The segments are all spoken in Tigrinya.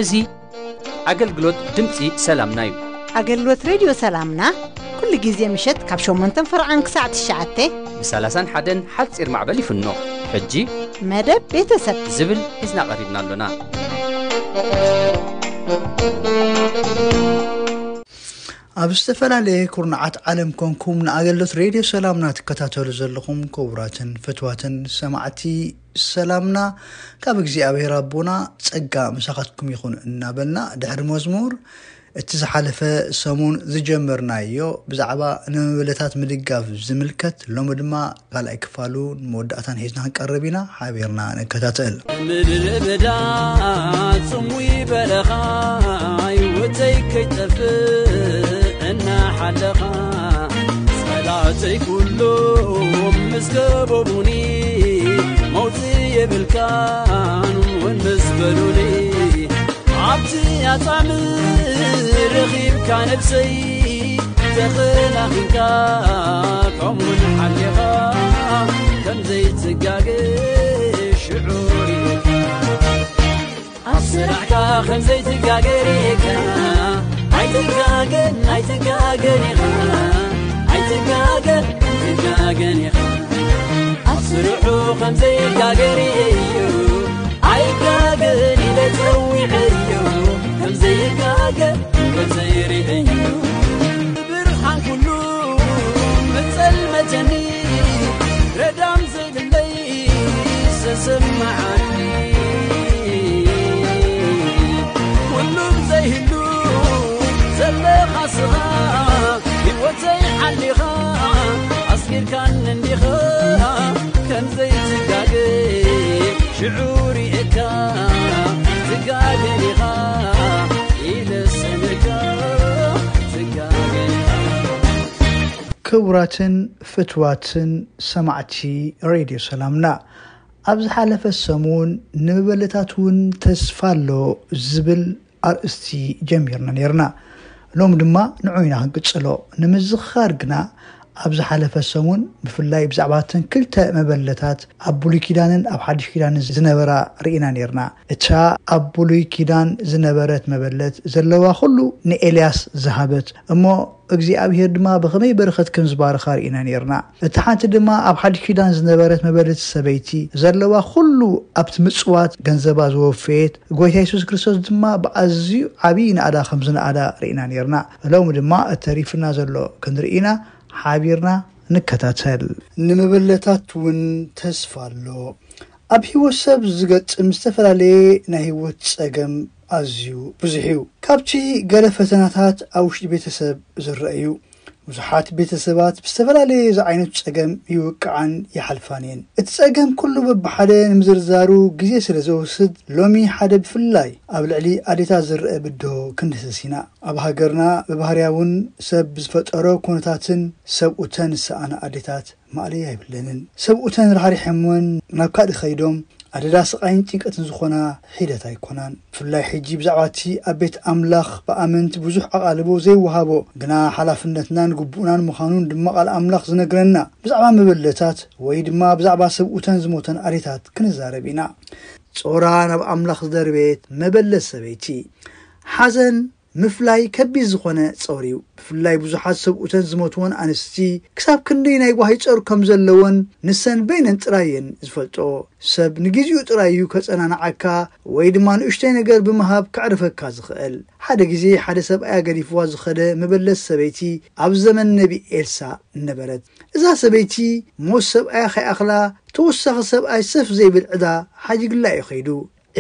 እዚ ኣገልግሎት ድምፂ ሰላምና እዩ። ኣገልግሎት ሬድዮ ሰላምና ኩሉ ግዜ ምሸት ካብ ሸሞንተን ፈርዓን ክሳዕ ትሽዓተ ብ ሰላሳን ሓደን ሓፂር ማዕበል ይፍኖ። ሕጂ መደብ ቤተሰብ ዝብል ሒዝና ቀሪብና ኣሎና። ኣብ ዝተፈላለየ ኩርናዓት ዓለም ኮንኩም ንኣገልግሎት ሬድዮ ሰላምና ትከታተሉ ዘለኹም ክቡራትን ፍትዋትን ሰማዕቲ ሰላምና ካብ እግዚኣብሔር ኣቦና ጸጋ ምሳኻትኩም ይኹን እናበልና፣ ድሕሪ መዝሙር እቲ ዝሓለፈ ሰሙን ዝጀመርናዮ ብዛዕባ ንመበለታት ምድጋፍ ዝምልከት፣ ሎሚ ድማ ካልኣይ ክፋሉ ንመወዳእታን ሒዝና ክንቀርብ ኢና። ሓቢርና ንከታተል። ምድሪ በዳ ጽሙይ በረኻ፣ ህይወተይ ከይጠፍእ እናሓለኻ፣ ጸላእተይ ኩሎም ምስ ከበቡኒ፣ መውጽኢ የብልካን እውን ምስ በሉኒ፣ ኣብቲ ኣጻምእ ረኺብካ ነብሰይ ተኸናኺንካ፣ ከምኡውን ሓሊኻ ከም ዘይትጋገ ሽዑ ርኢኻ። ኣብ ስራሕካ ከም ዘይትጋገ ርኢኻ። ኣይትጋገን፣ ኣይትጋገን ኢኻ። ኣይትጋገን፣ ኣይትጋገን ኢኻ። ኣብ ስርሑ ከም ዘይጋገ ርእየዮ። ኣይጋገን ኢለ ጸዊዐዮ። ከም ዘይጋገ፣ ከም ዘይርእየዮ። ብርሃን ኩሉ መጸልመተኒ። ረዳም ዘይብለይ ሰሰማዓኒ። ኩሉም ዘይህሉ ዘለኻ ስኻ፣ ህይወተይ ሓሊኻ፣ ኣስጊርካኒ እንዲኻ። ከም ዘይትጋገ ሽዑ ርኤካ፣ ትጋገ ኢኻ ኢለ ሰምዕካ፣ ትጋገ ኢኻ። ክቡራትን ፍትዋትን ሰማዕቲ ሬድዮ ሰላምና፣ ኣብ ዝሓለፈ ሰሙን ንመበለታት እውን ተስፋ ኣሎ ዝብል ኣርእስቲ ጀሚርና ነይርና። ሎም ድማ ንዑ ኢና ክንቅጽሎ። ንምዝኽኻር ግና፣ ኣብ ዝሓለፈ ሰሙን ብፍላይ ብዛዕባ እተን ክልተ መበለታት ኣብ ብሉይ ኪዳንን ኣብ ሓድሽ ኪዳንን ዝነበራ ርኢና ነይርና። እታ ኣብ ብሉይ ኪዳን ዝነበረት መበለት ዘለዋ ኩሉ ንኤልያስ ዝሃበት እሞ እግዚኣብሔር ድማ ብኸመይ በረኸት ከም ዝባርኻ ርኢና ነይርና። እታ ሓንቲ ድማ ኣብ ሓድሽ ኪዳን ዝነበረት መበለት ሰበይቲ ዘለዋ ኩሉ ኣብቲ ምጽዋት ገንዘባ ዝወፈየት፣ ጎይታ የሱስ ክርስቶስ ድማ ብኣዝዩ ዓብዪ ናእዳ ከም ዝነኣዳ ርኢና ነይርና። ሎሚ ድማ እተሪፍና ዘሎ ክንርኢ ኢና። ሓቢርና ንከታተል። ንመበለታት እውን ተስፋ ኣሎ። ኣብ ህይወት ሰብ ዝገጥም ዝተፈላለየ ናይ ህይወት ጸገም ኣዝዩ ብዙሕ እዩ። ካብቲ ገለ ፈተናታት ኣብ ውሽጢ ቤተሰብ ዝረአ እዩ። ብዙሓት ቤተሰባት ብዝተፈላለየ ዝዓይነቱ ጸገም ይውቅዓን ይሓልፋን እየን። እቲ ጸገም ኩሉ በብሓደ ንምዝርዛሩ ግዜ ስለ ዘወስድ፣ ሎሚ ሓደ ብፍላይ ኣብ ልዕሊ ኣዴታት ዝረአ ብድሆ ክንድህስስ ኢና። ኣብ ሃገርና ብባህርያ እውን ሰብ ብዝፈጠሮ ኩነታትን ሰብኡተን ዝሰኣና ኣዴታት ማእለያ የብለንን። ሰብኡተን ራሕሪሖምወን ናብ ካልእ ከይዶም ኣደዳ ስቓይን ጭንቀትን ዝኾና ሒደት ኣይኮናን። ብፍላይ ሕጂ ብዛዕባ እቲ ኣብ ቤት ኣምላኽ ብኣመንቲ ብዙሕ ኣቓልቦ ዘይወሃቦ፣ ግና ሓላፍነትናን ግቡእናን ምዃኑን ድማ ቃል ኣምላኽ ዝነግረና፣ ብዛዕባ መበለታት ወይ ድማ ብዛዕባ ሰብኡተን ዝሞተን ኣዴታት ክንዛረብ ኢና። ጾራ ናብ ኣምላኽ ዝደርበየት መበለት ሰበይቲ። ሓዘን ምፍላይ ከቢድ ዝኾነ ጾር እዩ። ብፍላይ ብዙሓት ሰብኡተን ዝሞትወን ኣንስቲ ክሳብ ክንደይ ናይ ጓሂ ጾር ከም ዘለወን ንሰን በይነን ጥራይ እየን ዝፈልጥኦ። ሰብ ንግዜኡ ጥራይ እዩ ከጸናንዓካ ወይ ድማ ንእሽተይ ነገር ብምሃብ ከዕርፈካ ዝኽእል። ሓደ ግዜ ሓደ ሰብኣያ ገዲፍዋ ዝኸደ መበለት ሰበይቲ ኣብ ዘመን ነቢ ኤልሳ ነበረት። እዛ ሰበይቲ ሞት ሰብኣያ ከይኣኽላ ተወሳኺ ሰብኣይ ሰፍ ዘይብል ዕዳ ሓዲግላ እዩ ከይዱ።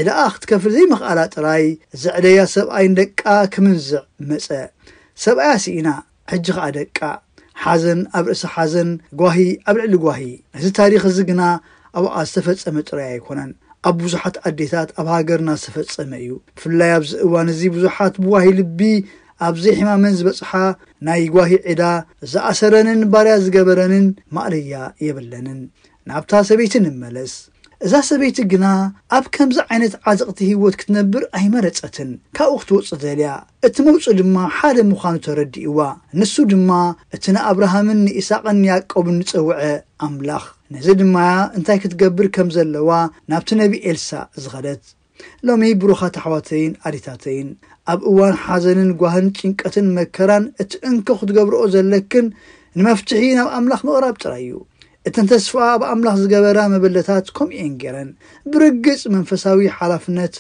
ዕዳኣ ክትከፍል ዘይምኽኣላ ጥራይ ዘዕደያ ሰብኣይ ንደቃ ክምንዝዕ መጸ። ሰብኣያ ስኢና፣ ሕጂ ኸኣ ደቃ። ሓዘን ኣብ ርእሲ ሓዘን፣ ጓሂ ኣብ ልዕሊ ጓሂ። እዚ ታሪኽ እዚ ግና ኣብኣ ዝተፈጸመ ጥራይ ኣይኮነን። ኣብ ብዙሓት ኣዴታት ኣብ ሃገርና ዝተፈጸመ እዩ። ብፍላይ ኣብዚ እዋን እዚ ብዙሓት ብዋሂ ልቢ ኣብ ዘይሕማመን ዝበጽሓ ናይ ጓሂ ዕዳ ዝኣሰረንን ባርያ ዝገበረንን ማእለያ የብለንን። ናብታ ሰበይቲ ንመለስ። እዛ ሰበይቲ ግና ኣብ ከምዚ ዓይነት ዓዘቕቲ ህይወት ክትነብር ኣይመረጸትን። ካብኡ ክትወጽእ ደልያ። እቲ መውጽኢ ድማ ሓደ ምዃኑ ተረዲእዋ። ንሱ ድማ እቲ ንኣብርሃምን ንኢሳቕን ንያዕቆብን ዝጸውዐ ኣምላኽ። ነዚ ድማ እንታይ ክትገብር ከም ዘለዋ ናብቲ ነቢ ኤልሳእ ዝኸደት። ሎሚ ብሩኻት ኣሕዋተይን ኣዴታተይን፣ ኣብ እዋን ሓዘንን ጓህን ጭንቀትን መከራን እቲ እንኮ ክትገብርኦ ዘለክን ንመፍትሒ ናብ ኣምላኽ ምቕራብ ጥራይ እዩ። እተን ተስፋ ኣብ ኣምላኽ ዝገበራ መበለታት ከምኡ እየን ገይረን። ብርግጽ መንፈሳዊ ሓላፍነት፣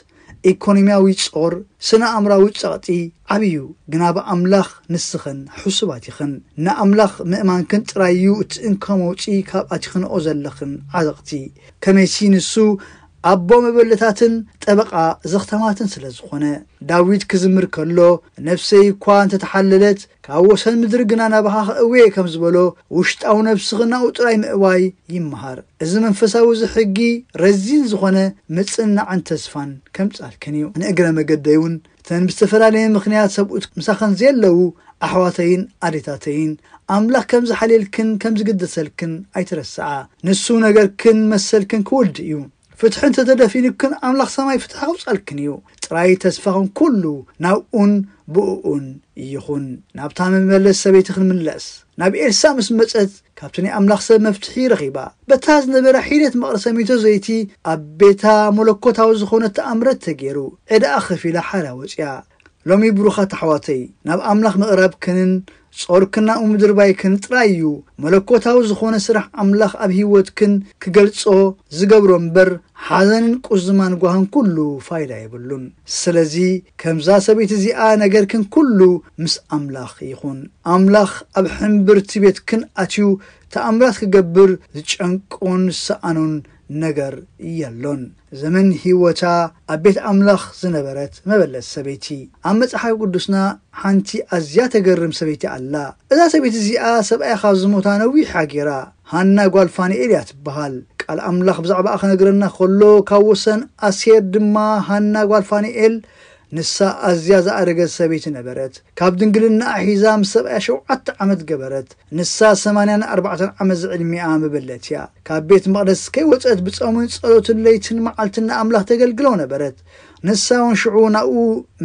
ኢኮኖሚያዊ ጾር፣ ስነ ኣእምራዊ ጸቕጢ ዓብዩ፣ ግና ብኣምላኽ ንስኽን ሕሱባት ኢኽን። ንኣምላኽ ምእማንክን ጥራይ እዩ እቲ እንኮ መውጺ ካብ ኣቲኽንኦ ዘለኽን ዓዘቕቲ። ከመይሲ ንሱ ኣቦ መበለታትን ጠበቓ ዘኽታማትን ስለ ዝኾነ። ዳዊት ክዝምር ከሎ፣ ነፍሰይ እኳ እንተተሓለለት፣ ካብ ወሰን ምድሪ ግና ናባኻ ከእውየ ከም ዝበሎ፣ ውሽጣዊ ነፍስኽን ናብኡ ጥራይ ምእዋይ ይመሃር። እዚ መንፈሳዊ እዚ ሕጊ ረዚን ዝኾነ ምጽንናዕን ተስፋን ከምጻልክን እዩ። ንእግረ መገደይ እውን እተን ብዝተፈላለየ ምኽንያት ሰብኡት ምሳኽን ዘየለዉ ኣሕዋተይን ኣዴታተይን፣ ኣምላኽ ከም ዝሓልየልክን ከም ዝግደሰልክን ኣይትረስዓ። ንሱ ነገርክን መሰልክን ክወድእ እዩ። ፍትሒ እንተተደፊኑክን ኣምላኽ ሰማይ ፍትሒ ከውጻልክን እዩ። ጥራይ ተስፋኽን ኩሉ ናብኡን ብእኡን ይኹን። ናብታ መመለስ ሰበይቲ ክንምለስ። ናብ ኤልሳ ምስ መጸት ካብቲ ናይ ኣምላኽ ሰብ መፍትሒ ረኺባ። በታ ዝነበረ ሒደት መቕረ ሰሚቶ ዘይቲ ኣብ ቤታ መለኮታዊ ዝኾነ ተኣምረት ተገይሩ። ዕዳኣ ከፊላ ሓራ ወጽያ። ሎሚ ብሩኻት ኣሕዋተይ፣ ናብ ኣምላኽ ምቕራብክንን ጾርክን ናብኡ ምድርባይክን ጥራይ እዩ መለኮታዊ ዝኾነ ስራሕ ኣምላኽ ኣብ ህይወትክን ክገልጾ ዝገብሮ እምበር፣ ሓዘንን ቁዝማን ጓህን ኩሉ ፋይዳ የብሉን። ስለዚ ከምዛ ሰበይቲ እዚኣ ነገርክን ኩሉ ምስ ኣምላኽ ይኹን። ኣምላኽ ኣብ ሕምብርቲ ቤትክን ኣትዩ ተኣምራት ክገብር ዝጨንቆን ዝሰኣኖን ነገር የሎን። ዘመን ህይወታ ኣብ ቤት ኣምላኽ ዝነበረት መበለት ሰበይቲ። ኣብ መጽሓፍ ቅዱስና ሓንቲ ኣዝያ ተገርም ሰበይቲ ኣላ። እዛ ሰበይቲ እዚኣ ሰብኣያ ካብ ዝሞታ ነዊሕ ሃጊራ። ሃና ጓል ፋንኤል እያ ትበሃል። ቃል ኣምላኽ ብዛዕባኣ ክነግረና ከሎ፣ ካብ ወሰን ኣሴር ድማ ሃና ጓል ፋንኤል፣ ንሳ ኣዝያ ዝኣረገት ሰበይቲ ነበረት። ካብ ድንግልናኣ ሒዛ ምስ ሰብኣያ ሸውዓተ ዓመት ገበረት። ንሳ ሰማንያን ኣርባዕተን ዓመት ዝዕድሚኣ መበለት እያ። ካብ ቤት መቕደስ ከይወጸት ብጾምን ጸሎትን ለይትን መዓልትን ንኣምላኽ ተገልግሎ ነበረት። ንሳ እውን ሽዑ ናብኡ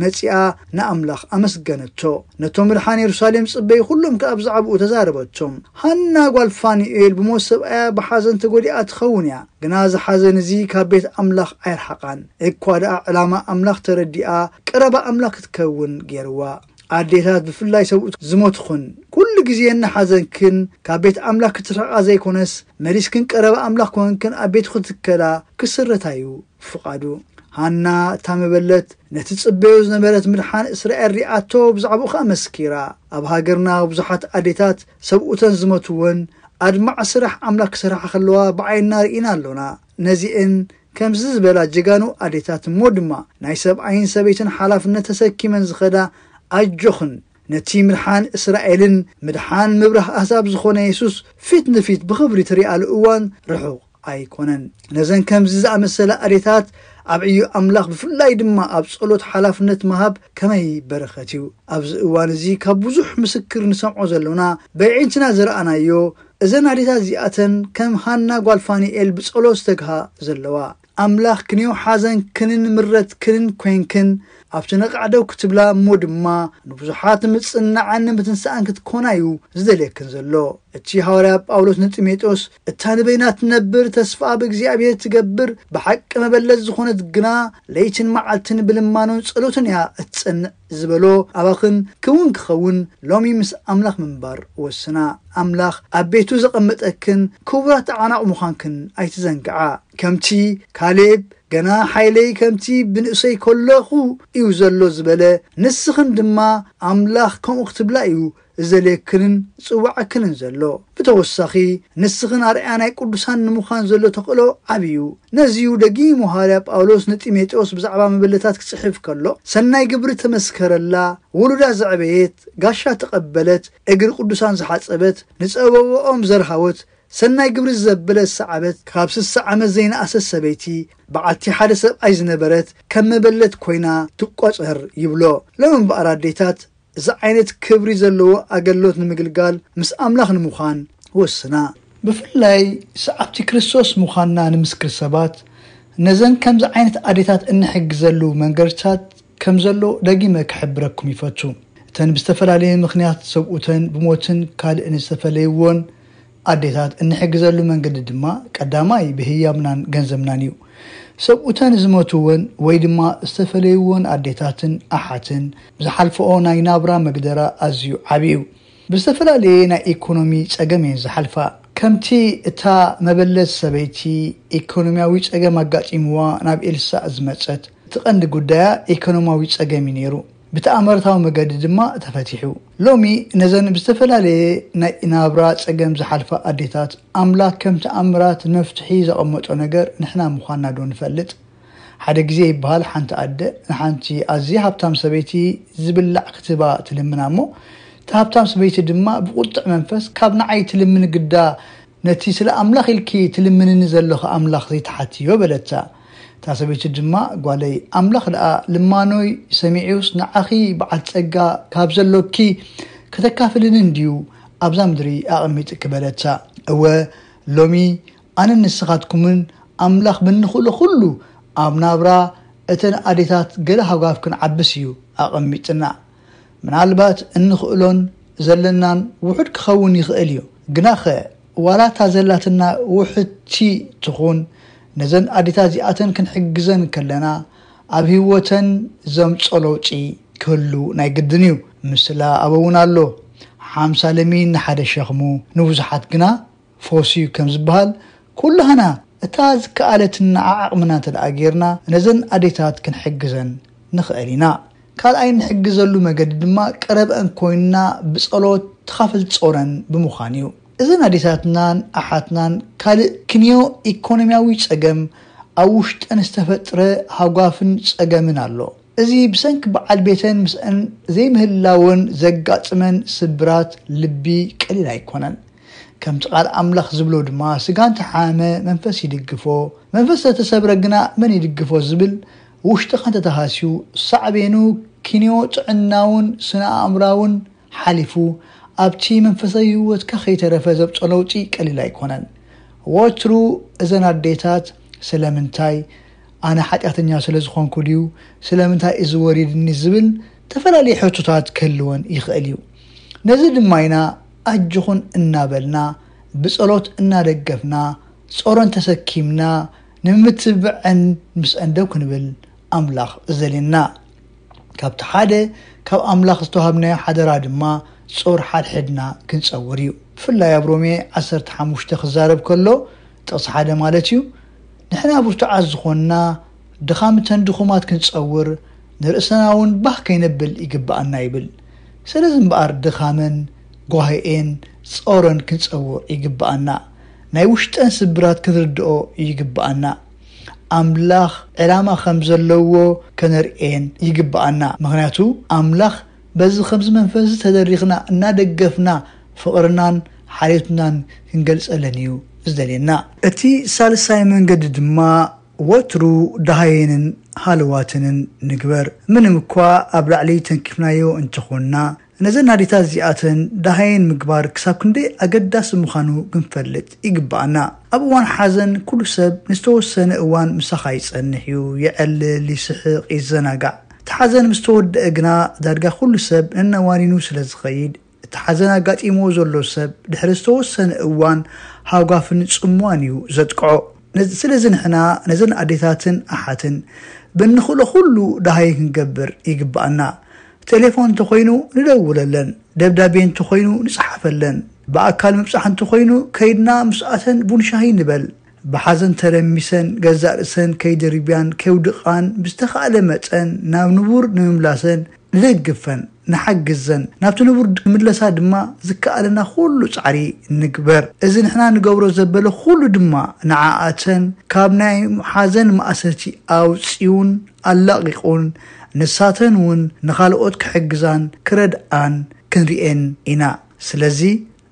መጺኣ ንኣምላኽ ኣመስገነቶ። ነቶም ምድሓን የሩሳሌም ጽበዩ ኩሎም ከኣ ብዛዕባኡ ተዛረበቶም። ሃና ጓል ፋኑኤል ብሞት ሰብኣያ ብሓዘን ተጎዲኣ ትኸውን እያ። ግና እዚ ሓዘን እዚ ካብ ቤት ኣምላኽ ኣይረሓቓን። እኳ ደኣ ዕላማ ኣምላኽ ተረዲኣ ቀረባ ኣምላኽ ክትከውን ገይርዋ። ኣዴታት ብፍላይ ሰብኡት ዝሞትኹን ኩሉ ግዜ እናሓዘንክን ካብ ቤት ኣምላኽ ክትርሕቓ ዘይኮነስ መሊስክን ቀረባ ኣምላኽ ኮንክን ኣብ ቤትኹ ትከላ ክስረታ እዩ ፍቓዱ። ሃና እታ መበለት ነቲ ጽበዮ ዝነበረት ምድሓን እስራኤል ሪኣቶ ብዛዕባኡ ከኣ መስኪራ። ኣብ ሃገርና ብዙሓት ኣዴታት ሰብኡተን ዝሞትወን ኣድማዕ ስራሕ ኣምላኽ ክሰርሓ ከለዋ ብዓይንና ርኢና ኣሎና። ነዚኤን ከምዚ ዝበላ ጀጋኑ ኣዴታት እሞ ድማ ናይ ሰብኣይን ሰበይትን ሓላፍነት ተሰኪመን ዝኸዳ ኣጆኽን ነቲ ምድሓን እስራኤልን ምድሓን ምብራህ ኣህዛብ ዝኾነ የሱስ ፊት ንፊት ብኽብሪ ትሪኣሉ እዋን ርሑቕ ኣይኮነን። ነዘን ከምዚ ዝኣመሰላ ኣዴታት ኣብ ዕዮ ኣምላኽ ብፍላይ ድማ ኣብ ጸሎት ሓላፍነት ምሃብ ከመይ በረኸት እዩ። ኣብዚ እዋን እዚ ካብ ብዙሕ ምስክር ንሰምዖ ዘሎና በየዒንትና ዝረኣናዮ እዘን ኣዴታት እዚኣተን ከም ሃና ጓል ፋኒኤል ብጸሎት ዝተግሃ ዘለዋ። ኣምላኽ ክንዮ ሓዘንክንን ምረትክንን ኮይንክን ኣብቲ ነቓዕ ደው ክትብላ እሞ ድማ ንብዙሓት ምጽንናዕን ምትንሳእን ክትኮና እዩ ዝደልየክን ዘሎ። እቲ ሃዋርያ ጳውሎስ ንጢሞቴዎስ እታ ንበይና ትነብር ተስፋ ብእግዚኣብሔር ትገብር ብሓቂ መበለት ዝኾነት ግና ለይትን መዓልትን ብልማኖን ጸሎትን እያ እትጸንዕ ዝበሎ ኣባኽን ክውን ክኸውን ሎሚ ምስ ኣምላኽ ምንባር ወስና። ኣምላኽ ኣብ ቤቱ ዘቐመጠክን ክቡራት ኣዕናቑ ምዃንክን ኣይትዘንግዓ። ከምቲ ካሌብ ገና ሓይለይ ከምቲ ብንእሰይ ከለኹ እዩ ዘሎ ዝበለ፣ ንስኽን ድማ ኣምላኽ ከምኡ ክትብላ እዩ ዝደልየክንን ዝጽውዓክንን ዘሎ። ብተወሳኺ ንስኽን ኣርኣያ ናይ ቅዱሳን ንምዃን ዘሎ ተኽእሎ ዓቢ እዩ። ነዚ እዩ ደጊሙ ሃዋርያ ጳውሎስ ንጢሞቴዎስ ብዛዕባ መበለታት ክጽሕፍ ከሎ፣ ሰናይ ግብሪ ተመስከረላ፣ ውሉዳ ዘዕበየት፣ ጋሻ ተቐበለት፣ እግሪ ቅዱሳን ዝሓጸበት፣ ንጸበብኦም ዘርሃወት፣ ሰናይ ግብሪ ዘበለ ዝሰዓበት፣ ካብ ስሳ ዓመት ዘይነኣሰት ሰበይቲ፣ በዓልቲ ሓደ ሰብኣይ ዝነበረት፣ ከም መበለት ኮይና ትቆጸር ይብሎ። ሎም እምበኣር ኣዴታት፣ እዚ ዓይነት ክብሪ ዘለዎ ኣገልግሎት ንምግልጋል ምስ ኣምላኽ ንምዃን ወስና። ብፍላይ ሰዓብቲ ክርስቶስ ምዃንና ንምስክር ሰባት፣ ነዘን ከምዚ ዓይነት ኣዴታት እንሕግዘሉ መንገድታት ከም ዘሎ ደጊመ ክሕብረኩም ይፈቱ። እተን ብዝተፈላለየ ምኽንያት ሰብኡተን ብሞትን ካልእን ዝተፈለይዎን ኣዴታት እንሕግዘሉ መንገዲ ድማ ቀዳማይ ብህያብናን ገንዘብናን እዩ። ሰብኡተን ዝሞትወን ወይ ድማ ዝተፈለይዎን ኣዴታትን ኣሓትን ዝሓልፈኦ ናይ ናብራ መግደራ ኣዝዩ ዓቢ እዩ። ብዝተፈላለየ ናይ ኢኮኖሚ ጸገም እየን ዝሓልፋ። ከምቲ እታ መበለት ሰበይቲ ኢኮኖሚያዊ ጸገም ኣጋጢምዋ ናብ ኤልሳእ ዝመጸት፣ እቲ ቀንዲ ጉዳያ ኢኮኖሚያዊ ጸገም እዩ ነይሩ። ብተኣምረታዊ መገዲ ድማ ተፈቲሑ። ሎሚ ነዘን ብዝተፈላለየ ናይ ናብራ ጸገም ዝሓልፋ ኣዴታት ኣምላኽ ከም ተኣምራት መፍትሒ ዘቐመጦ ነገር ንሕና ምዃንና ዶ ንፈልጥ? ሓደ ግዜ ይበሃል፣ ሓንቲ ኣደ ንሓንቲ ኣዝያ ሃብታም ሰበይቲ ዝብላዕ ክትህባ ትልምና እሞ፣ እታ ሃብታም ሰበይቲ ድማ ብቁጥዕ መንፈስ፣ "ካብ ንዓይ ትልምኒ ግዳ፣ ነቲ ስለ ኣምላኽ ኢልኪ ትልምንኒ ዘለኺ ኣምላኽ ዘይትሓትዮ?" በለታ። እታ ሰበይቲ ድማ፣ "ጓለይ፣ ኣምላኽ ደኣ ልማኖይ ሰሚዑስ ንዓኺ በዓል ጸጋ ካብ ዘሎኪ ከተካፍልኒ እንድዩ ኣብዛ ምድሪ ኣቐሚጥኪ?" በለታ። እወ፣ ሎሚ ኣነን ንስኻትኩምን ኣምላኽ ብንኽእሎ ኩሉ ኣብ ናብራ እተን ኣዴታት ገለ ሃጓፍ ክንዓብስ እዩ ኣቐሚጥና። ምናልባት እንኽእሎን ዘለናን ውሑድ ክኸውን ይኽእል እዩ። ግናኸ፣ ዋላ እታ ዘላትና ውሕድቲ ትኹን፣ ነዘን ኣዴታት እዚኣተን ክንሕግዘን ከለና፣ ኣብ ህይወተን ዘምጾ ለውጢ ክህሉ ናይ ግድን እዩ። ምስላ ኣበ እውን ኣሎ። ሓምሳ ለሚን ንሓደ ሸኽሙ፣ ንብዙሓት ግና ፈውሲ እዩ ከም ዝበሃል፣ ኩላህና እታ ዝከኣለትና ዓቕምና እንተ ደኣ ጌርና፣ ነዘን ኣዴታት ክንሕግዘን ንኽእል ኢና። ካልኣይ እንሕግዘሉ መገዲ ድማ ቀረበአን ኮይንና ብጸሎት ተኻፍል ጾረን ብምዃን እዩ። እዘን ኣዴታትናን ኣሓትናን ካልእ ክንዮ ኢኮኖሚያዊ ጸገም ኣብ ውሽጠን ዝተፈጥረ ሃጓፍን ጸገምን ኣሎ። እዚ ብሰንኪ በዓል ቤተን ምስአን ዘይምህላወን ዘጋጥመን ስብራት ልቢ ቀሊል ኣይኮነን። ከምቲ ቃል ኣምላኽ ዝብሎ ድማ፣ "ስጋ እንተሓመመ መንፈስ ይድግፎ፣ መንፈስ እንተተሰብረ ግና መን ይድግፎ?" ዝብል ውሽጥኻ እንተተሃስዩ፣ ሳዕቤኑ ክንዮ ጥዕናውን ስነ ኣእምራውን ሓሊፉ ኣብቲ መንፈሳዊ ህይወትካ ከይተረፈ ዘብጾ ለውጢ ቀሊል ኣይኮነን። ወትሩ እዘን ኣዴታት፣ "ስለምንታይ ኣነ ሓጢኣተኛ ስለ ዝኾንኩ ድዩ? ስለምንታይ እዚ ወሪድኒ?" ዝብል ተፈላለየ ሕቶታት ክህልወን ይኽእል እዩ። ነዚ ድማ ኢና ኣጆኹን እናበልና፣ ብጸሎት እናደገፍና፣ ጾረን ተሰኪምና፣ ንምትብዐን ምስአን ደው ክንብል ኣምላኽ ዝደልየና። ካብቲ ሓደ ካብ ኣምላኽ ዝተዋሃብናዮ ሓደራ ድማ ጾር ሓድሕድና ክንጸውር እዩ። ብፍላይ ኣብ ሮሜ ዓሰርተ ሓሙሽተ ክዛረብ ከሎ፣ ጥቕሲ ሓደ ማለት እዩ፣ "ንሕና ብርቱዓት ዝኾንና፣ ድኻምተን ድኹማት ክንጸውር፣ ንርእስና እውን ባህ ከይነብል ይግብኣና" ይብል። ስለዚ እምበኣር ድኻመን ጓህኤን ጾረን ክንጸውር ይግብኣና። ናይ ውሽጠን ስብራት ክንርድኦ ይግብኣና። ኣምላኽ ዕላማ ከም ዘለዎ ከነርእየን ይግብኣና። ምኽንያቱ ኣምላኽ በዚ ከምዚ መንፈስ ተደሪኽና እናደገፍና ፍቕርናን ሓልዮትናን ክንገልጸለን እዩ ዝደልየና። እቲ ሳልሳይ መንገዲ ድማ ወትሩ ደሃየንን ሃለዋትንን ንግበር። ምንም እኳ ኣብ ላዕሊ ተንኪፍናዮ እንተኾንና፣ ነዘን ኣዴታት እዚኣተን ደሃየን ምግባር ክሳብ ክንደይ ኣገዳሲ ምዃኑ ክንፈልጥ ይግብኣና። ኣብ እዋን ሓዘን ኩሉ ሰብ ንዝተወሰነ እዋን ምሳኻ ይጸንሕ እዩ፣ የዕልል፣ ይስሕቕ፣ ይዘናጋዕ። እቲ ሓዘን ምስ ተወደአ ግና ዳርጋ ኩሉ ሰብ ነናዋኒኑ ስለ ዝኸይድ፣ እቲ ሓዘን ኣጋጢምዎ ዘሎ ሰብ ድሕሪ ዝተወሰነ እዋን ሃጓፍን ጽምዋን እዩ ዘጥቅዖ። ነዚ፣ ስለዚ ንሕና ነዘን ኣዴታትን ኣሓትን ብንኽእሎ ኩሉ ደሃይ ክንገብር ይግብኣና። ቴሌፎን እንተኾይኑ ንደውለለን፣ ደብዳቤ እንተኾይኑ ንጽሓፈለን፣ ብኣካል ምብጻሕ እንተኾይኑ ከይድና ምስኣተን ቡን ሻሂ ንበል። ብሓዘን ተረሚሰን ገዛእ ርእሰን ከይድርብያን ከይውድቓን ብዝተኻእለ መጠን ናብ ንቡር ንምምላሰን ንደግፈን፣ ንሓግዘን። ናብቲ ንቡር ክምለሳ ድማ ዝከኣለና ኩሉ ጻዕሪ ንግበር። እዚ ንሕና ንገብሮ ዘበለ ኩሉ ድማ ንዓኣተን ካብ ናይ ሓዘን ማእሰርቲ ኣውጺኡን ኣላቒቑን፣ ንሳተን እውን ንኻልኦት ክሕግዛን ክረድኣን ክንርእየን ኢና። ስለዚ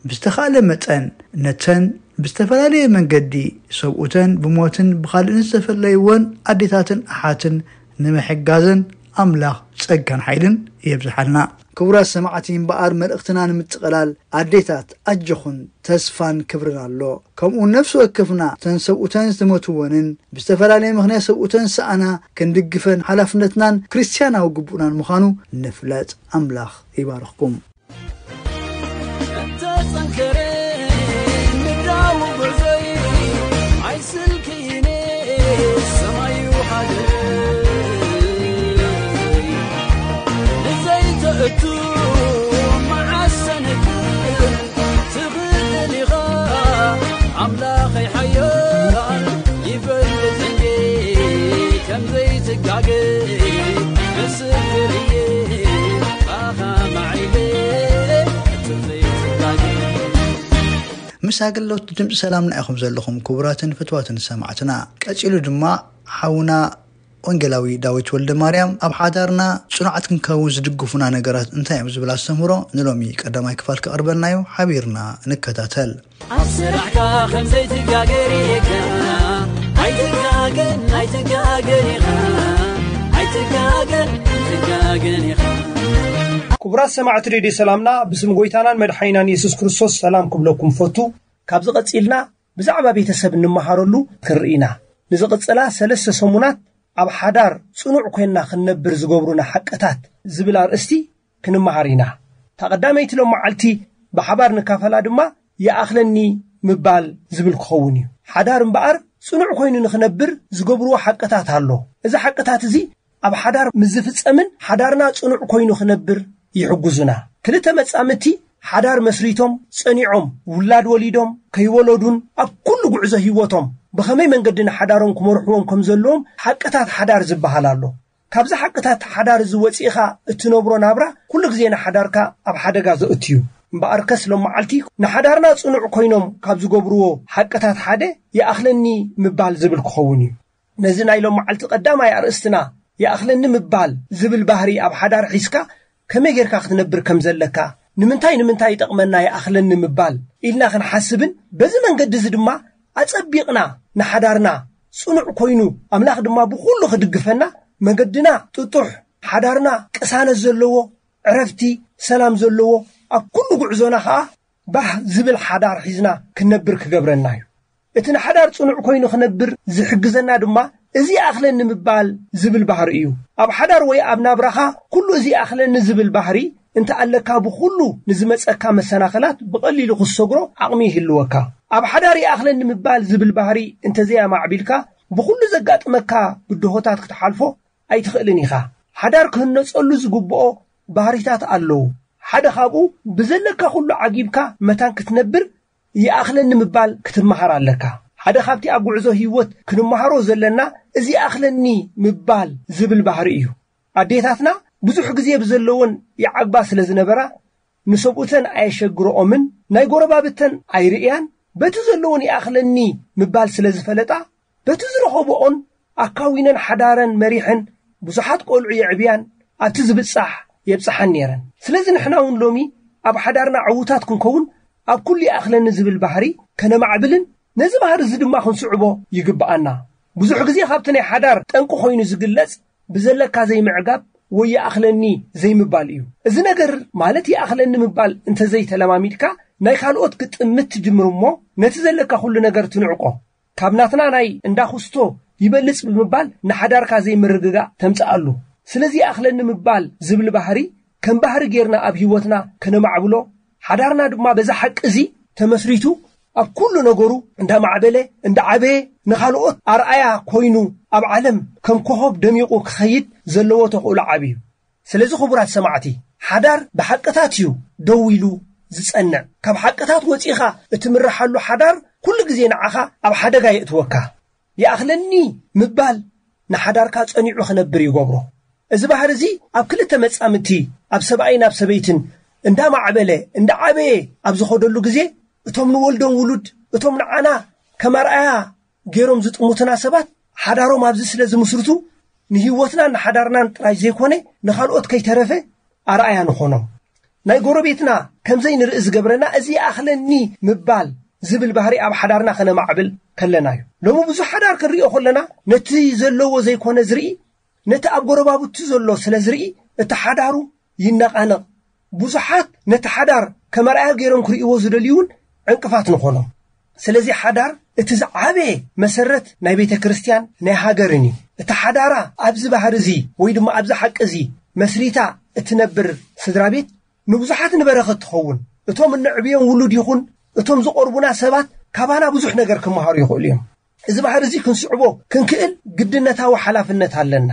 ብዝተኻእለ መጠን ነተን ብዝተፈላለየ መንገዲ ሰብኡተን ብሞትን ብኻልእን ዝተፈለይወን ኣዴታትን ኣሓትን ንምሕጋዘን ኣምላኽ ጸጋን ሓይልን የብዝሓልና። ክቡራት ሰማዕቲ፣ እምበኣር መልእኽትና ንምጥቕላል፣ ኣዴታት ኣጆኹን፣ ተስፋን ክብርን ኣሎ። ከምኡ ነፍሲ ወከፍና እተን ሰብኡተን ዝተመትወንን ብዝተፈላለየ ምኽንያት ሰብኡተን ዝሰኣና ክንድግፈን ሓላፍነትናን ክርስትያናዊ ግቡእናን ምዃኑ ንፍለጥ። ኣምላኽ ይባርኽኩም። እተጸንከረ ምድራዊ ጉዕዞይ ኣይስልክይነ ሰማዩ ሃገረይ ንዘይተእቱ መዓሰንክን ትኽእል ኢኻ ኣምላኸይ ሓያል ይፈልጥ እንዴ ከም ዘይትጋገ ምስክር እየ ባኻ ማዒለ ምስ ኣገልግሎት ድምፂ ሰላምና ኢኹም ዘለኹም ክቡራትን ፍትዋትን ሰማዕትና። ቀፂሉ ድማ ሓውና ወንጌላዊ ዳዊት ወልደ ማርያም ኣብ ሓዳርና ፅኑዓት ክንከውን ዝድግፉና ነገራት እንታይ እዮም ዝብል ኣስተምህሮ ንሎሚ ቀዳማይ ክፋል ክቐርበልና እዩ። ሓቢርና ንከታተል። ኣብ ስራሕካ ከም ዘይትጋገር እየካ ኣይትጋገን ኣይትጋገን ኢኻ ኣይትጋገን ኣይትጋገን ኢኻ። ክቡራት ሰማዕቲ ሬድዮ ሰላምና፣ ብስም ጎይታናን መድሓኒናን የሱስ ክርስቶስ ሰላም ክብለኩም ፈቱ። ካብዚ ቀጺልና ብዛዕባ ቤተሰብ እንመሃረሉ ክንርኢ ኢና። ንዝቕጽላ ሰለስተ ሰሙናት ኣብ ሓዳር ጽኑዕ ኮይንና ክንነብር ዝገብሩና ሓቅታት ዝብል ኣርእስቲ ክንመሃር ኢና። እታ ቀዳመይቲ ሎም መዓልቲ ብሓባር ንካፈላ ድማ ይኣኽለኒ ምባል ዝብል ክኸውን እዩ። ሓዳር እምበኣር ጽኑዕ ኮይኑ ንኽነብር ዝገብርዎ ሓቅታት ኣሎ። እዚ ሓቅታት እዚ ኣብ ሓዳር ምስ ዝፍጸምን ሓዳርና ጽኑዕ ኮይኑ ክነብር ይሕግዙና። ክልተ መጻምድቲ ሓዳር መስሪቶም ጸኒዖም ውላድ ወሊዶም ከይወለዱን ኣብ ኩሉ ጉዕዞ ህይወቶም ብኸመይ መንገዲ ንሓዳሮም ክመርሕዎም ከም ዘለዎም ሓቅታት ሓዳር ዝበሃል ኣሎ። ካብዚ ሓቅታት ሓዳር እዚ ወጺእኻ እትነብሮ ናብራ ኩሉ ግዜ ንሓዳርካ ኣብ ሓደጋ ዘእቱ እዩ። እምበኣርከስ ሎም መዓልቲ ንሓዳርና ጽኑዕ ኮይኖም ካብ ዝገብርዎ ሓቅታት ሓደ ይኣኽለኒ ምባል ዝብል ክኸውን እዩ። ነዚ ናይ ሎም መዓልቲ ቀዳማይ ኣርእስትና ይኣኽለኒ ምባል ዝብል ባህሪ ኣብ ሓዳር ሒዝካ ከመይ ጌርካ ክትነብር ከም ዘለካ፣ ንምንታይ ንምንታይ ይጠቕመና ይኣኽለኒ ምባል ኢልና ክንሓስብን በዚ መንገዲ እዚ ድማ ኣጸቢቕና ንሓዳርና ጽኑዕ ኮይኑ ኣምላኽ ድማ ብኹሉ ክድግፈና መገድና ጥጡሕ ሓዳርና ቅሳነት ዘለዎ ዕረፍቲ ሰላም ዘለዎ ኣብ ኩሉ ጉዕዞና ኸኣ ባህ ዝብል ሓዳር ሒዝና ክንነብር ክገብረና እዩ። እቲ ንሓዳር ጽኑዕ ኮይኑ ክነብር ዝሕግዘና ድማ እዚ ይኣኽለኒ ምባል ዝብል ባህሪ እዩ። ኣብ ሓዳር ወይ ኣብ ናብራኻ ኩሉ እዚ ይኣኽለኒ ዝብል ባህሪ እንተ ኣለካ ብኹሉ ንዝመጸካ መሰናኸላት ብቐሊሉ ክትሰግሮ ዓቕሚ ይህልወካ። ኣብ ሓዳር ይኣኽለኒ ምባል ዝብል ባህሪ እንተዘያማዕቢልካ ብኹሉ ዘጋጥመካ ብድሆታት ክትሓልፎ ኣይትኽእልን ኢኻ። ሓዳር ክህነጸሉ ዝግብኦ ባህሪታት ኣለዉ። ሓደ ካብኡ ብዘለካ ኩሉ ዓጊብካ መታን ክትነብር ይኣኽለኒ ምባል ክትመሃር ኣለካ። ሓደ ካብቲ ኣብ ጉዕዞ ህይወት ክንመሃሮ ዘለና እዚ ይኣኽለኒ ምባል ዝብል ባህሪ እዩ። ኣዴታትና ብዙሕ ግዜ ብዘለወን ይዓግባ ስለ ዝነበራ ንሰብኡተን ኣየሸግረኦምን ናይ ጎረባብተን ኣይርእያን በቲ ዘለወን ይኣኽለኒ ምባል ስለ ዝፈለጣ በቲ ዝረኸብኦን ኣካዊነን ሓዳረን መሪሐን ብዙሓት ቆልዑ የዕብያን ኣብቲ ዝብጻሕ የብጽሓን ነይረን። ስለዚ ንሕና እውን ሎሚ ኣብ ሓዳርና ዕዉታት ክንከውን ኣብ ኩሉ ይኣኽለኒ ዝብል ባህሪ ከነማዕብልን ነዚ ባህሪ እዚ ድማ ክንስዕቦ ይግብኣና። ብዙሕ ግዜ ካብቲ ናይ ሓዳር ጠንቂ ኮይኑ ዝግለጽ ብዘለካ ዘይምዕጋብ ወይ ይኣኽለኒ ዘይምባል እዩ። እዚ ነገር ማለት ይኣኽለኒ ምባል እንተዘይተለማሚድካ ናይ ካልኦት ክትጥምት ትጅምር እሞ ነቲ ዘለካ ኩሉ ነገር ትንዕቆ። ካብ ናትና ናይ እንዳ ኩስቶ ይበልጽ ብምባል ንሓዳርካ ዘይምርግጋእ ተምጽኣሉ። ስለዚ ይኣኽለኒ ምባል ዝብል ባህሪ ከም ባህሪ ጌርና ኣብ ህይወትና ከነማዕብሎ ሓዳርና ድማ በዛ ሓቂ እዚ ተመስሪቱ ኣብ ኩሉ ነገሩ እንዳማዕበለ እንዳዓበየ ንኻልኦት ኣርኣያ ኮይኑ ኣብ ዓለም ከም ኮኾብ ደሚቑ ክኸይድ ዘለዎ ተኽእሎ ዓቢ እዩ። ስለዚ ክቡራት ሰማዕቲ ሓዳር ብሓቅታት እዩ ደው ኢሉ ዝጸንዕ። ካብ ሓቅታት ወጺኻ እትምርሓሉ ሓዳር ኩሉ ግዜ ንዓኻ ኣብ ሓደጋ የእትወካ። ይኣኽለኒ ምባል ንሓዳርካ ጸኒዑ ክነብር ይገብሮ። እዚ ባህሪ እዚ ኣብ ክልተ መጻምድቲ ኣብ ሰብኣይን ኣብ ሰበይትን እንዳማዕበለ እንዳዓበየ ኣብ ዝኸደሉ ግዜ እቶም ንወልዶም ውሉድ እቶም ንዓና ከም ኣርኣያ ገይሮም ዝጥሙትና ሰባት ሓዳሮም ኣብዚ ስለ ዝምስርቱ ንህይወትናን ንሓዳርናን ጥራይ ዘይኮነ ንኻልኦት ከይተረፈ ኣርኣያ ንኾኖም። ናይ ጎረቤትና ከምዘይ ንርኢ ዝገብረና እዚ ይኣኽለኒ ምባል ዝብል ባህሪ ኣብ ሓዳርና ከነማዕብል ከለና እዩ። ሎሚ ብዙሕ ሓዳር ክንሪኦ ከለና ነቲ ዘለዎ ዘይኮነ ዝርኢ ነቲ ኣብ ጎረባብቱ ዘሎ ስለ ዝርኢ እቲ ሓዳሩ ይነቓነቕ ብዙሓት ነቲ ሓዳር ከም ኣርኣያ ገይሮም ክርእይዎ ዝደልዩ እውን ዕንቅፋት ንኾኖም። ስለዚ ሓዳር እቲ ዝዓበየ መሰረት ናይ ቤተ ክርስቲያን ናይ ሃገርን እዩ። እቲ ሓዳራ ኣብዚ ባህሪ እዚ ወይ ድማ ኣብዚ ሓቂ እዚ መስሪታ እትነብር ስድራ ቤት ንብዙሓት ንበረኸት ትኸውን። እቶም እንዕብዮም ውሉድ ይኹን እቶም ዝቐርቡና ሰባት ካባና ብዙሕ ነገር ክመሃሩ ይኽእሉ እዮም። እዚ ባህሪ እዚ ክንስዕቦ ክንክእል ግድነታዊ ሓላፍነት ኣለና።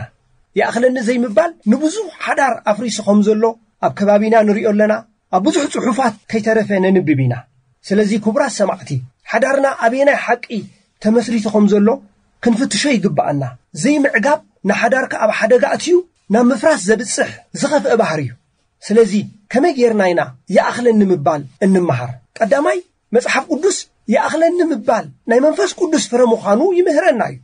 ይኣኽለኒ ዘይምባል ንብዙሕ ሓዳር ኣፍሪሱ ከም ዘሎ ኣብ ከባቢና ንሪኦ ኣለና። ኣብ ብዙሕ ጽሑፋት ከይተረፈ ነንብብ ኢና። ስለዚ ክቡራት ሰማዕቲ፣ ሓዳርና ኣበየናይ ሓቂ ተመስሪቱ ከም ዘሎ ክንፍትሾ ይግብኣና። ዘይምዕጋብ ንሓዳርካ ኣብ ሓደጋ ኣትዩ ናብ ምፍራስ ዘብጽሕ ዝኸፍአ ባህሪ እዩ። ስለዚ ከመይ ጌርና ኢና ይኣኽለኒ ምባል እንመሃር? ቀዳማይ፣ መጽሓፍ ቅዱስ ይኣኽለኒ ምባል ናይ መንፈስ ቅዱስ ፍረ ምዃኑ ይምህረና እዩ።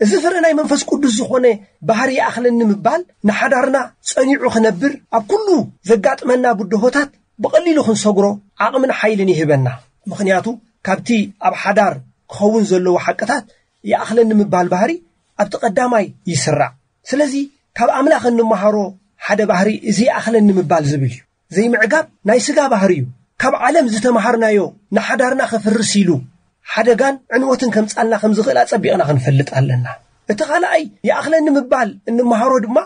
እዚ ፍረ ናይ መንፈስ ቅዱስ ዝኾነ ባህሪ ይኣኽለኒ ምባል ንሓዳርና ጸኒዑ ክነብር ኣብ ኩሉ ዘጋጥመና ብድሆታት ብቐሊሉ ክንሰግሮ ዓቕምን ሓይልን ይህበና። ምኽንያቱ ካብቲ ኣብ ሓዳር ክኸውን ዘለዎ ሓቅታት ይኣኽለኒ ምባል ባህሪ ኣብቲ ቀዳማይ ይስራዕ። ስለዚ ካብ ኣምላኽ እንመሃሮ ሓደ ባህሪ እዚ ይኣኽለኒ ምባል ዝብል እዩ። ዘይምዕጋብ ናይ ስጋ ባህሪ እዩ። ካብ ዓለም ዝተምሃርናዮ ንሓዳርና ከፍርስ ኢሉ ሓደጋን ዕንወትን ከምጻልና ከም ዝኽእል ኣጸቢቕና ክንፈልጥ ኣለና። እቲ ካልኣይ ይኣኽለኒ ምባል እንመሃሮ ድማ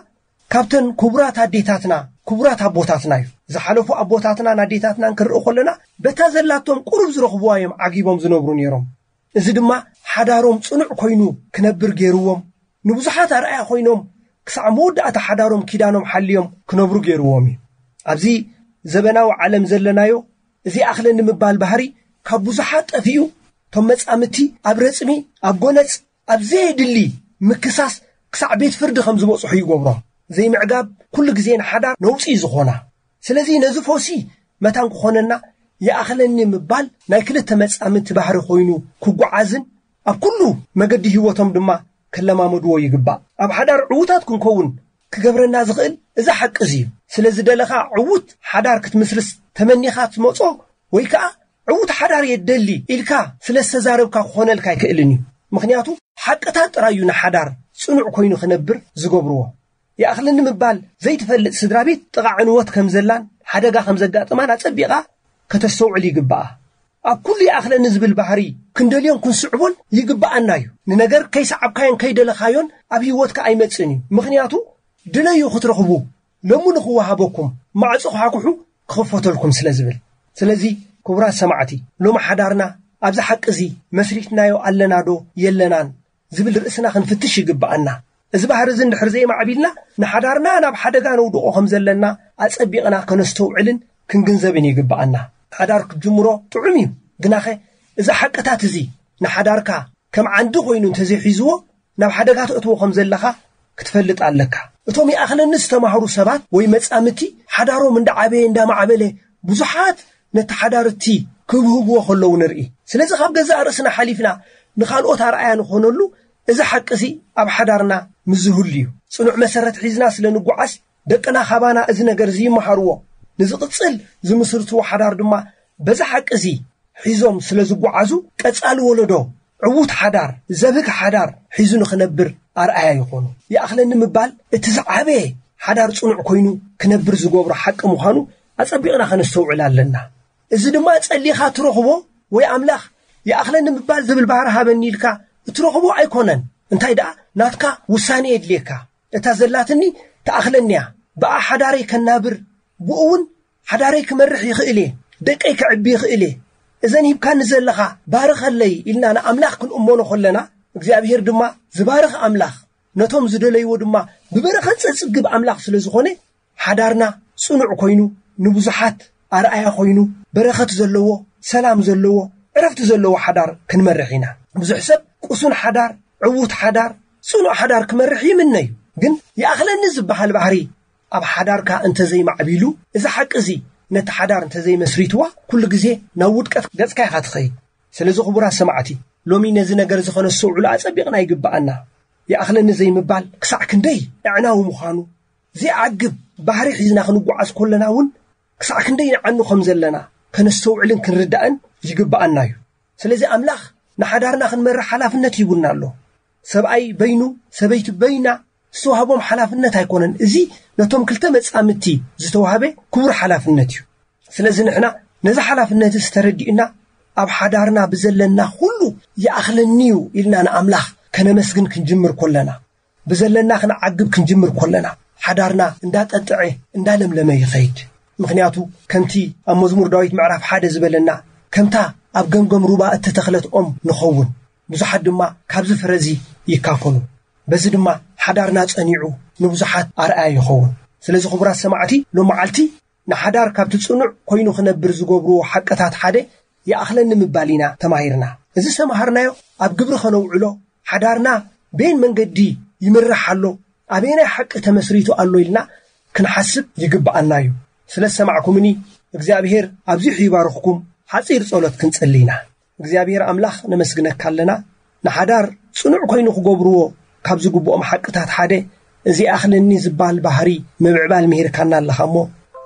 ካብተን ክቡራት ኣዴታትና፣ ክቡራት ኣቦታትና እዩ። ዝሓለፉ ኣቦታትናን ኣዴታትናን ክንርኢ ከለና በታ ዘላቶም ቁሩብ ዝረኽብዋ እዮም ዓጊቦም ዝነብሩ ነይሮም። እዚ ድማ ሓዳሮም ጽኑዕ ኮይኑ ክነብር ገይርዎም፣ ንብዙሓት ኣርኣያ ኮይኖም ክሳዕ መወዳእታ ሓዳሮም ኪዳኖም ሓልዮም ክነብሩ ገይርዎም እዩ። ኣብዚ ዘበናዊ ዓለም ዘለናዮ እዚ ይኣኽለኒ ምባል ባህሪ ካብ ብዙሓት ጠፊኡ፣ እቶም መጻምቲ ኣብ ረጽሚ፣ ኣብ ጎነጽ፣ ኣብ ዘየድሊ ምክሳስ ክሳዕ ቤት ፍርዲ ከም ዝበጽሑ ይገብሮም። ዘይምዕጋብ ኩሉ ግዜ ንሓዳር ነውጺ እዩ ዝኾና። ስለዚ ነዚ ፈውሲ መታን ክኾነና ይኣኽለኒ ምባል ናይ ክልተ መጻምቲ ባህሪ ኮይኑ ክጓዓዝን ኣብ ኩሉ መገዲ ህይወቶም ድማ ክለማመድዎ ይግባእ። ኣብ ሓዳር ዕዉታት ክንከውን ክገብረና ዝኽእል እዚ ሓቂ እዚ እዩ። ስለ ዝደለኻ ዕዉት ሓዳር ክትምስርት ተመኒኻ ትመጾ ወይ ከኣ ዕዉት ሓዳር እየ ደሊ ኢልካ ስለ ዝተዛረብካ ክኾነልካ ኣይክእልን እዩ። ምኽንያቱ ሓቅታት ጥራይ እዩ ንሓዳር ጽኑዕ ኮይኑ ክነብር ዝገብርዎ። ይኣኽለኒ ምባል ዘይትፈልጥ ስድራ ቤት ጥቓ ዕንወት ከም ዘላን ሓደጋ ከም ዘጋጥማን ኣጸቢቓ ከተስተውዕል ይግብኣ። ኣብ ኩሉ ይኣኽለኒ ዝብል ባህሪ ክንደልዮን ክንስዕቦን ይግብኣና እዩ። ንነገር ከይሰዓብካዮን ከይደለኻዮን ኣብ ህይወትካ ኣይመጽእን እዩ። ምኽንያቱ ድለዩ ክትረኽቡ፣ ሎሚ ንኽወሃበኩም፣ ማዕጾ ክሓኩሑ ክኽፈተልኩም ስለ ዝብል። ስለዚ ክቡራት ሰማዕቲ፣ ሎሚ ሓዳርና ኣብዚ ሓቂ እዚ መስሪትናዮ ኣለና ዶ የለናን ዝብል ርእስና ክንፍትሽ ይግብኣና። እዚ ባህሪ እዚ እንድሕር ዘይማዕቢልና ንሓዳርና ናብ ሓደጋ ነውድቖ ከም ዘለና ኣጸቢቕና ከነስተውዕልን ክንግንዘብን ይግብኣና። ሓዳር ክትጅምሮ ጥዑም እዩ፣ ግናኸ እዚ ሓቅታት እዚ ንሓዳርካ ከም ዓንዲ ኮይኑ እንተዘይሒዝዎ ናብ ሓደጋ ተእትዎ ከም ዘለኻ ክትፈልጥ ኣለካ። እቶም ይኣኽለኒ ዝተማህሩ ሰባት ወይ መጻምቲ ሓዳሮም እንዳዓበየ እንዳማዕበለ ብዙሓት ነቲ ሓዳር እቲ ክብህግዎ ከለዉ ንርኢ። ስለዚ ካብ ገዛእ ርእስና ሓሊፍና ንኻልኦት ኣርኣያ ንኾነሉ እዚ ሓቂ እዚ ኣብ ሓዳርና ምስ ዝህሉ እዩ። ጽኑዕ መሰረት ሒዝና ስለ ንጓዓዝ ደቅና ካባና እዚ ነገር እዚ ይመሃርዎ። ንዝቕጽል ዝምስርትዎ ሓዳር ድማ በዚ ሓቂ እዚ ሒዞም ስለ ዝጓዓዙ ቀጻሊ ወለዶ ዕዉት ሓዳር፣ ዘብህግ ሓዳር ሒዙ ንኽነብር ኣርኣያ ይኾኑ። ይኣኽለኒ ምባል እቲ ዝዓበየ ሓዳር ጽኑዕ ኮይኑ ክነብር ዝገብሮ ሓቂ ምዃኑ ኣጸቢቕና ከነስተውዕል ኣለና። እዚ ድማ ጸሊኻ ትረኽቦ ወይ ኣምላኽ ይኣኽለኒ ምባል ዝብል ባህሪ ሃበኒ ኢልካ እትረኽቦ ኣይኮነን። እንታይ ደኣ ናትካ ውሳኔ የድልየካ። እታ ዘላትኒ ትኣኽለኒ እያ። ብኣ ሓዳረይ ከናብር፣ ብኡ እውን ሓዳረይ ክመርሕ ይኽእል እየ፣ ደቀይ ከዕቢ ይኽእል እየ። እዘን ሂብካኒ ዘለኻ ባርኸለይ ኢልና ንኣምላኽ ክንእመኖ ከለና፣ እግዚኣብሄር ድማ ዝባርኽ ኣምላኽ፣ ነቶም ዝደለይዎ ድማ ብበረኸት ዘጽግብ ኣምላኽ ስለ ዝኾነ፣ ሓዳርና ጽኑዕ ኮይኑ፣ ንብዙሓት ኣርኣያ ኮይኑ፣ በረኸት ዘለዎ፣ ሰላም ዘለዎ፣ ዕረፍቲ ዘለዎ ሓዳር ክንመርሕ ኢና። ብዙሕ ሰብ ቅሱን ሓዳር፣ ዕዉት ሓዳር፣ ጽኑዕ ሓዳር ክመርሕ ይምነ እዩ። ግን ይኣኽለኒ ዝበሃል ባህሪ ኣብ ሓዳርካ እንተዘይማዕቢሉ፣ እዚ ሓቂ እዚ ነቲ ሓዳር እንተዘይመስሪትዋ፣ ኩሉ ግዜ ናብ ውድቀት ገጽካ ኢኻ ትኸይድ። ስለዚ ክቡራት ሰማዕቲ፣ ሎሚ ነዚ ነገር እዚ ኸነስተውዕሎ ኣጸቢቕና ይግብኣና። ይኣኽለኒ ዘይምባል ክሳዕ ክንደይ ኣዕናዊ ምዃኑ፣ ዘይዓግብ ባህሪ ሒዝና ክንጓዓዝ ከለና እውን ክሳዕ ክንደይ ንዓኑ ከም ዘለና ከነስተውዕልን ክንርዳእን ይግብኣና እዩ። ስለዚ ኣምላኽ ንሓዳርና ክንመርሕ ሓላፍነት ሂቡና ኣሎ። ሰብኣይ በይኑ፣ ሰበይቲ በይና፣ ዝተዋህቦም ሓላፍነት ኣይኮነን። እዚ ነቶም ክልተ መጻምድቲ ዝተዋህበ ክቡር ሓላፍነት እዩ። ስለዚ ንሕና ነዚ ሓላፍነት እዚ ተረዲእና ኣብ ሓዳርና ብዘለና ኩሉ ይኣኽለኒ እዩ ኢልና ንኣምላኽ ከነመስግን ክንጅምር ከለና፣ ብዘለና ክንዓግብ ክንጅምር ከለና፣ ሓዳርና እንዳጠጥዐ እንዳለምለመ ይኸይድ። ምኽንያቱ ከምቲ ኣብ መዝሙር ዳዊት ምዕራፍ ሓደ ዝበለና፣ ከምታ ኣብ ገምገም ሩባ እተተኽለት ኦም ንኸውን። ብዙሓት ድማ ካብዚ ፍረዚ ይካፈሉ። በዚ ድማ ሓዳርና ጸኒዑ ንብዙሓት ኣርኣያ ይኸውን። ስለዚ ክቡራት ሰማዕቲ፣ ሎመዓልቲ ንሓዳር ካብቲ ጽኑዕ ኮይኑ ክነብር ዝገብርዎ ሓቅታት ሓደ ይኣኽለኒ ምባል ኢና ተማሂርና። እዚ ዝተማሃርናዮ ኣብ ግብሪ ከነውዕሎ፣ ሓዳርና በየን መንገዲ ይምራሕ ኣሎ፣ ኣበየናይ ሓቂ ተመስሪቱ ኣሎ ኢልና ክንሓስብ ይግብኣና እዩ። ስለ ዝሰማዕኩምኒ እግዚኣብሔር ኣብዚሑ ይባርኽኩም። ሓጺር ጸሎት ክንጽሊ ኢና። እግዚኣብሔር ኣምላኽ ነመስግነካ ኣለና። ንሓዳር ጽኑዕ ኮይኑ ክገብርዎ ካብ ዝግብኦም ሓቅታት ሓደ እዚ ይኣኽለኒ ዝበሃል ባህሪ ምብዕባል ምሂርካና ኣለኻ እሞ፣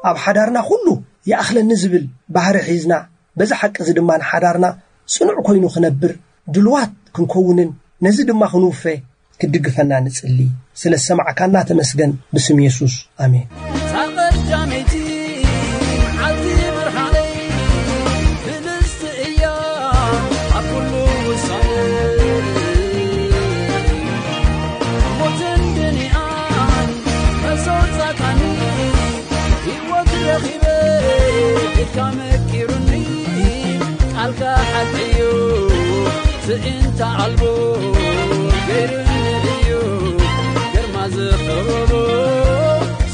ኣብ ሓዳርና ኩሉ ይኣኽለኒ ዝብል ባህሪ ሒዝና፣ በዚ ሓቂ እዚ ድማ ንሓዳርና ጽኑዕ ኮይኑ ክነብር ድልዋት ክንከውንን ነዚ ድማ ክንውፈ ክትድግፈና ንጽሊ። ስለ ዝሰማዕካና ተመስገን። ብስም የሱስ፣ ኣሜን። እታ ቀዳመይቲ መዓልቲ ብርሃነይ፣ ብልጽቲ እያ ኣብ ኩሉ ውሳነ። ሞትን ድንኣን መሰውጻካኒ፣ ህይወት ረኺበ ቤትካ መቂሩኒ፣ ቃልካ ሓቂ እዩ ትእንታ ኣልቦ ገይሩኒ እዩ፣ ግርማ ዝኸበቦ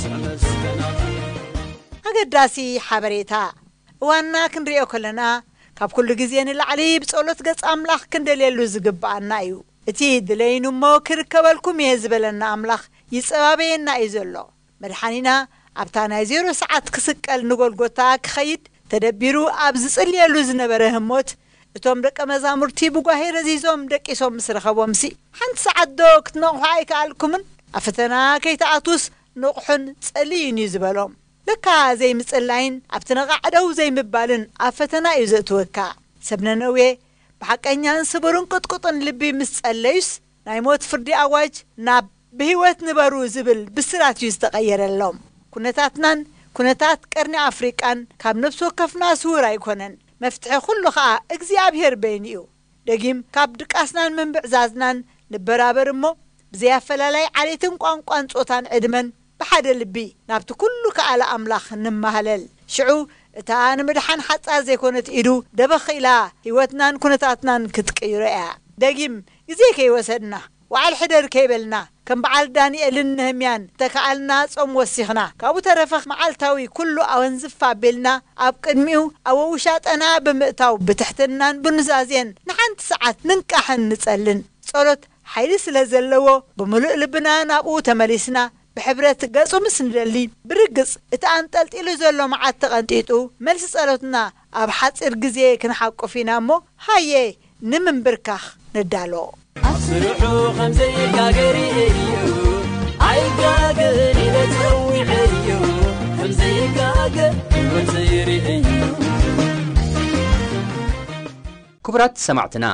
ስመ መስገናት። ኣገዳሲ ሓበሬታ። እዋንና ክንሪኦ ከለና፣ ካብ ኩሉ ግዜ ንላዕሊ ብጸሎት ገጽ ኣምላኽ ክንደልየሉ ዝግብኣና እዩ። እቲ ድለዩኒ እሞ ክርከበልኩም እየ ዝበለና ኣምላኽ ይጸባበየና እዩ ዘሎ። መድሓኒና ኣብታ ናይ ዜሮ ሰዓት ክስቀል ንጎልጎታ ክኸይድ ተደቢሩ ኣብ ዝጽልየሉ ዝነበረ ህሞት፣ እቶም ደቀ መዛሙርቲ ብጓሄ ረዚዞም ደቂሶም ምስ ረኸቦምሲ፣ ሓንቲ ሰዓት ዶ ክትነቕሑ ኣይከኣልኩምን? ኣብ ፈተና ከይትኣትዉስ ንቕሑን ጸልዩን እዩ ዝበሎም። ለካ ዘይምጽላይን ኣብቲ ነቓዕ ደው ዘይምባልን ኣብ ፈተና እዩ ዘእትወካ። ሰብ ነነዌ ብሓቀኛን ስቡርን ቅጥቁጥን ልቢ ምስ ጸለዩስ፣ ናይ ሞት ፍርዲ ኣዋጅ ናብ ብህይወት ንበሩ ዝብል ብስራት እዩ ዝተቐየረሎም። ኩነታትናን ኩነታት ቀርኒ ኣፍሪቃን ካብ ነፍሲ ወከፍና ስዉር ኣይኮነን። መፍትሒ ኩሉ ኸኣ እግዚኣብሔር በይኑ እዩ። ደጊም ካብ ድቃስናን ምንብዕዛዝናን ንበራበር እሞ፣ ብዘይ ኣፈላላይ ዓሌትን ቋንቋን ጾታን ዕድመን ብሓደ ልቢ ናብቲ ኩሉ ከኣለ ኣምላኽ ንመሃለል። ሽዑ እታ ንምድሓን ሓጻር ዘይኮነት ኢዱ ደበኽ ኢላ ህይወትናን ኩነታትናን ክትቅይሮ እያ። ደጊም ግዜ ከይወሰድና፣ ዋዕል ሕደር ከይበልና፣ ከም በዓል ዳንኤልን ነህምያን እተከኣልና ጾም ወሲኽና፣ ካብኡ ተረፈ መዓልታዊ ኩሉ ኣወንዝፍ ኣቢልና ኣብ ቅድሚኡ ኣብ ውሻጠና ብምእታው ብትሕትናን ብኑዛዜን ንሓንቲ ሰዓት ንንቃሕን ንጸልን። ጸሎት ሓይሊ ስለ ዘለዎ ብምሉእ ልብና ናብኡ ተመሊስና ብሕብረት ገጹ ምስ ንደሊ፣ ብርግጽ እቲ ኣንጠልጢሉ ዘሎ መዓት ተቐንጢጡ፣ መልሲ ጸሎትና ኣብ ሓጺር ግዜ ክንሓቁፍ ኢና እሞ፣ ሃየ ንምንብርካኽ ንዳሎ። ኣብ ስርሑ ከም ዘይጋገር እዩ፣ ኣይጋገር ኢለ ጸዊዐዮ፣ ከም ዘይጋገር ህይወት ዘይርእዮ። ክቡራት ሰማዕትና፣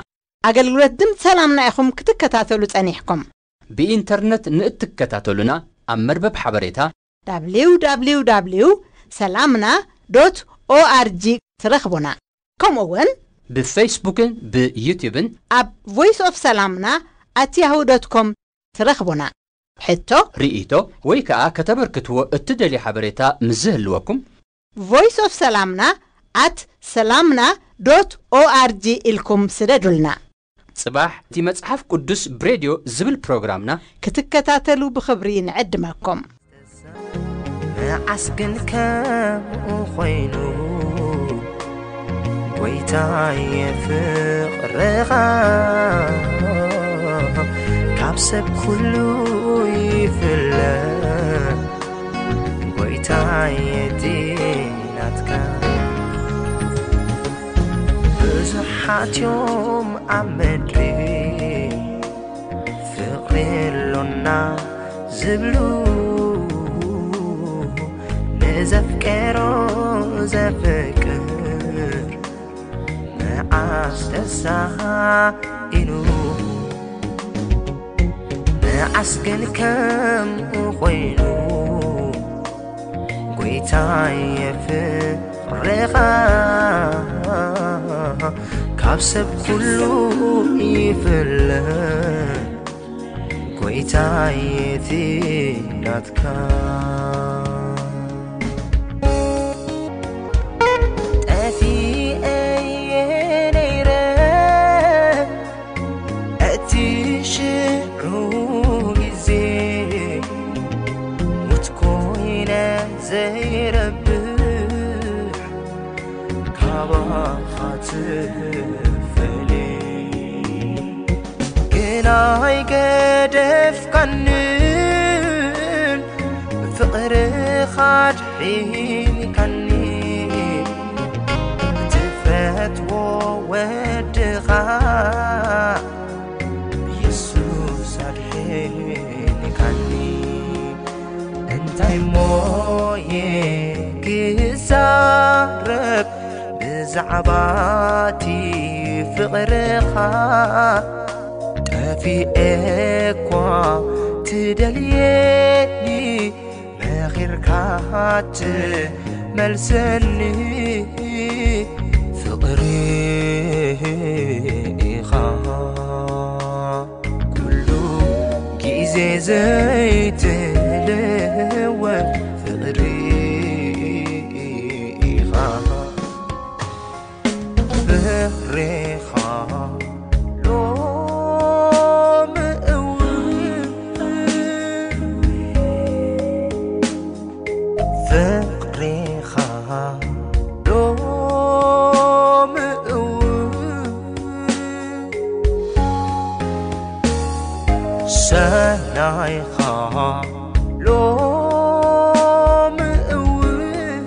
ኣገልግሎት ድምፂ ሰላምና ኢኹም ክትከታተሉ ጸኒሕኩም። ብኢንተርነት ንእትከታተሉና ኣብ መርበብ ሓበሬታ www ሰላምና ዶት ኦኣርጂ ትረኽቡና። ከምኡ እውን ብፌስቡክን ብዩቲዩብን ኣብ ቮይስ ኦፍ ሰላምና ኣት ያሁ ዶት ኮም ትረኽቡና። ሕቶ፣ ርእይቶ ወይ ከኣ ከተበርክትዎ እትደልዩ ሓበሬታ ምስ ዝህልወኩም፣ ቮይስ ኦፍ ሰላምና ኣት ሰላምና ዶት ኦኣርጂ ኢልኩም ስደዱልና። ጽባሕ እቲ መጽሓፍ ቅዱስ ብሬድዮ ዝብል ፕሮግራምና ክትከታተሉ ብኽብሪ ንዕድመኩም። መዓስ ግን ከምኡ ኾይኑ፣ ጎይታየ ፍቕርኻ ካብ ሰብ ኩሉ ይፍለ። ጎይታየ እቲ ናትካ ብዙሓት እዮም ኣብ ምድሪ ፍቕሪ ኣሎና ዝብሉ፣ ንዘፍቀሮ ዘፍቅር መዓስ ተሳኢኑ። ንዓስ ግን ከምኡ ኮይኑ፣ ጎይታየ ፍቕርኻ ካብ ሰብ ኩሉ ይፍለ። ጎይታየ እቲ ናትካ ጠፊኤ ነይረ፣ እቲ ሽዑ ግዜ ሙት ኮይነ ዘይረብሕ ካባኻ ትፈልየ። ግን ኣይገደፍካንን፣ ፍቕርኻ ኣድሒንካኒ። ትፈትዎ ወድኻ የሱስ ኣድሒንካኒ። እንታይ ሞየ ክዛረብ ብዛዕባ እቲ ፍቕርኻ? ጠፊኤ እኳ ትደልየኒ፣ መኺርካ ትመልሰኒ። ፍቕሪ ኢኻ ኩሉ ግዜ ዘይትልወጥ፣ ፍቕሪ ኢኻ። ፍቕሬኻ ሎሚ እውን፣ ፍቕሬኻ ሎሚ እውን፣ ሰናይኻ ሎሚ እውን፣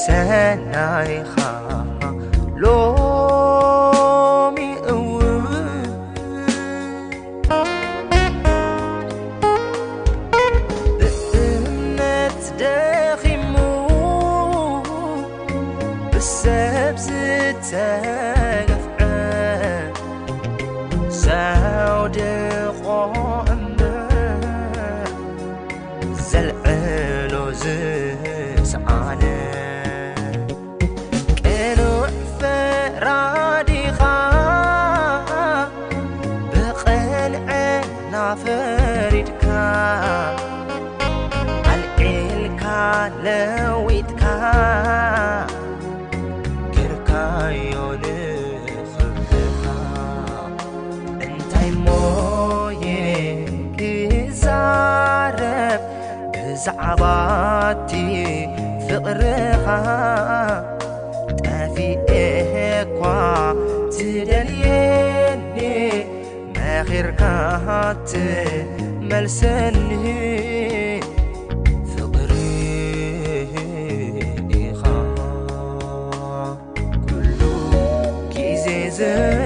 ሰናይኻ ሎሚ እውን፣ ብእምነት ደኺሙ ብሰብ ዝተገፍዐ ዘውድቖ እምበር ዘልዕሎ ዝሰኣነ ቅኑዕ ፈራዲኻ ብቕንዕና ፈሪድካ ኣልዒልካ ለዊጥካ ገርካዮ ንኽብርኻ። እንታይ ሞየ ክዛረብ ብዛዕባ እቲ ፍቕርኻ? ጠፊኤ እኳ ትደልየኒ፣ መኺርካ ትመልሰኒ። ፍቕሪ ኢኻ ኩሉ ግዜ ዘ-